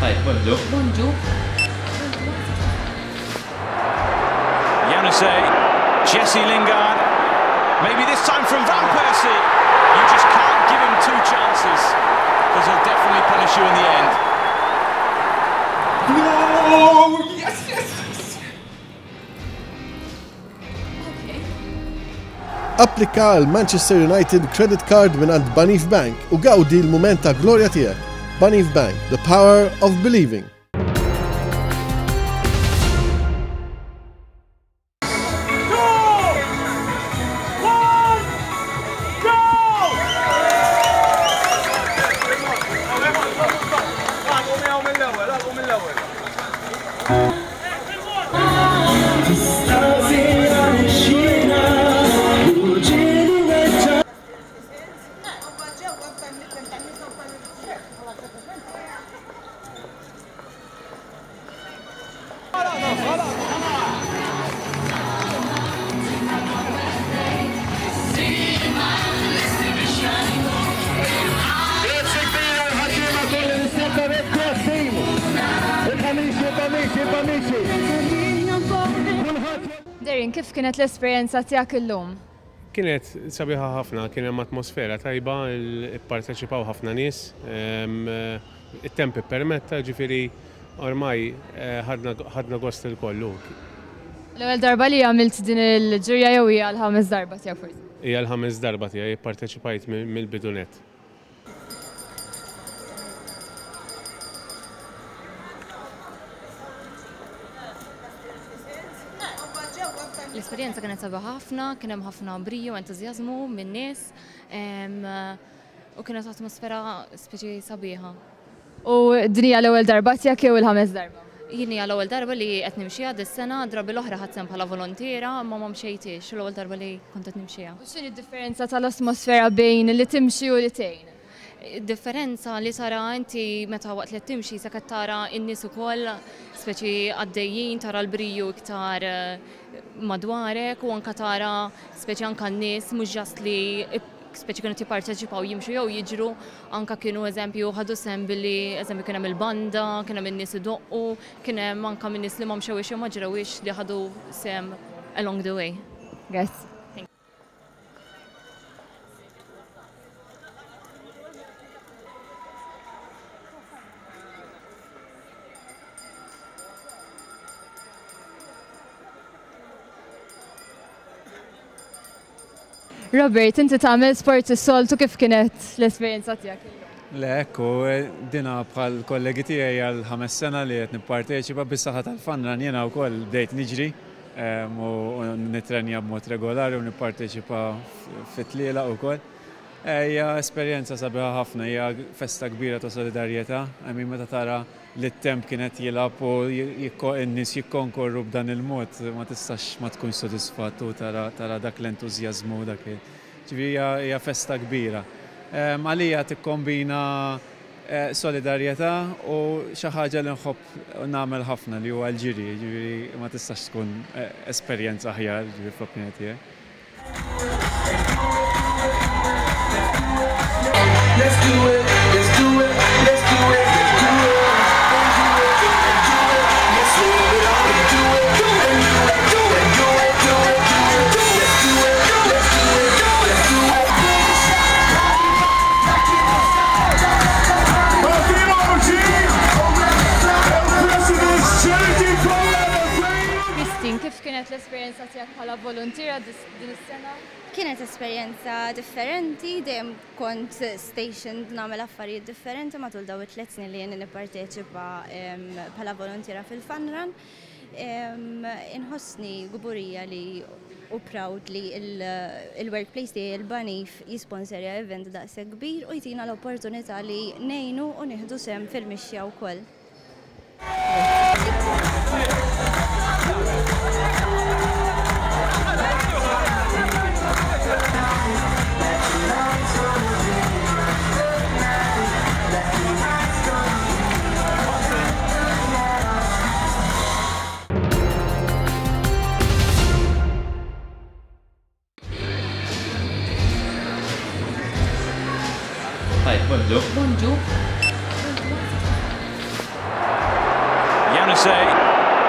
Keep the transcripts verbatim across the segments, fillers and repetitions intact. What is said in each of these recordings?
Hi, bonġu. Bonġu. Januzaj, Jesse Lingard, maybe this time from Van Persie. You just can't give him two chances, because he'll definitely punish you in the end. No! Yes, yes, yes! Okay. Applika għal Manchester United Credit Card mingħand Banif Bank u gawdi l-mument ta' glorja tiegħek. Banif Bank, the power of believing. Darren, kif kienet l-esperjenza tiegħek illum? Kienet sabiħa ħafna, kien hemm atmosfera tajba, ipparteċipaw ħafna nies, it-temp ippermetta, ġifieri ormai ħadna gost il-kollu. L-ewwel darba li għamilt din il-ġirja jew hija l-ħames darba tiegħek forsi? Hija l-ħames darba tiegħi, ipparteċipajt mill-bidu nett. L-esperjenza kienet sabiħa ħafna, kien hemm ħafna briju, entużjażmu min-nies u kienet atmosfera speċi sabiħa. U din hija l-ewwel darba tiegħek jew il-ħames darba? Jien hija l-ewwel darba li qed nimxiha dis-sena, drabi l-oħra ħadt sehem bħala volontiera, imma ma mxejtix, l-ewwel darba li kont qed nimxiha. U x'inhi d-differenza tal-atmosfera bejn li timxi u li tgħin? Differenza li tara inti meta waqt li timxi se qed tara n-nies ukoll speċi għaddejjin, tara l-briju iktar madwarek u anka tara speċi anka n-nies mhux ġast li speċi kienu jipparteċipaw jimxu jew jiġru, anka kienu eżempju ħadu sehem billi eżempju kien hemm il-banda, kien hemm in-nies idoqqu, kien hemm anka min-nies li ma mxewix jew ma ġrewix li ħadu sehem along the way. Grazzi. Robert, inti tagħmel sport is-soltu, kif kienet l-esperjenza tiegħek illum? Le, ekku, dina bħal kollegi tiegħi għal ħames sena li qed nipparteċipa bis-saħħa tal-Fun Run jiena wkoll bdejt niġri u nitrenja b'mod regolari u nipparteċipa fit-tlielaq ukoll. Hija esperjenza sabiħa ħafna, hija festa kbira ta' solidarjetà, I mean meta tara li t-temp kienet jilgħab u n-nies jikkonkorru b'dan il-mod, ma tistax ma tkunx sodisfatt u tara dak l-entużjażmu dak. Ġifieri hija festa kbira. Għalija tikkombina solidarjetà u xi ħaġa li nħobb nagħmel ħafna li huwa l-ġiri, ġifieri ma tistax tkun esperjenza aħjar, ġifieri fl-opinjoni tiegħi. Let's do it, let's do it, let's do it, let's do it. Let's do it, do it, do it, do it, do it, do it, do it, let's do it, let's do it, let's do it. Christine, kif kienet l-esperjenza tiegħek bħala volontiera din is-sena? Kienet esperjenza differenti, dejjem kont stationed nagħmel affarijiet differenti matul dawn it-tliet snin li jien nipparteċipa bħala volontiera fil-Fun Run. Inħossni kburija li u proud li il-workplace tiegħi il-Banif jisponserja event daqshekk kbir u jtina l-opportunità li ngħinu u nieħdu sehem fil-mixja wkoll. Hi, bonġu. Bonġu. say.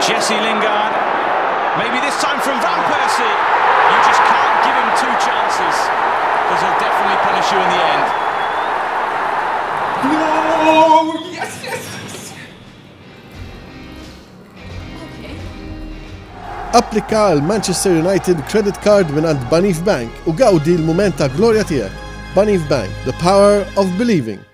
Jesse Lingard. Maybe this time from Van Persie. You just can't give him two chances because he'll definitely punish you in the end. No! Yes, yes, yes! Okay. Applika għal Manchester United Credit Card mingħand Banif Bank u gawdi l-mument ta' glorja tiegħek. Banif Bank, the power of believing.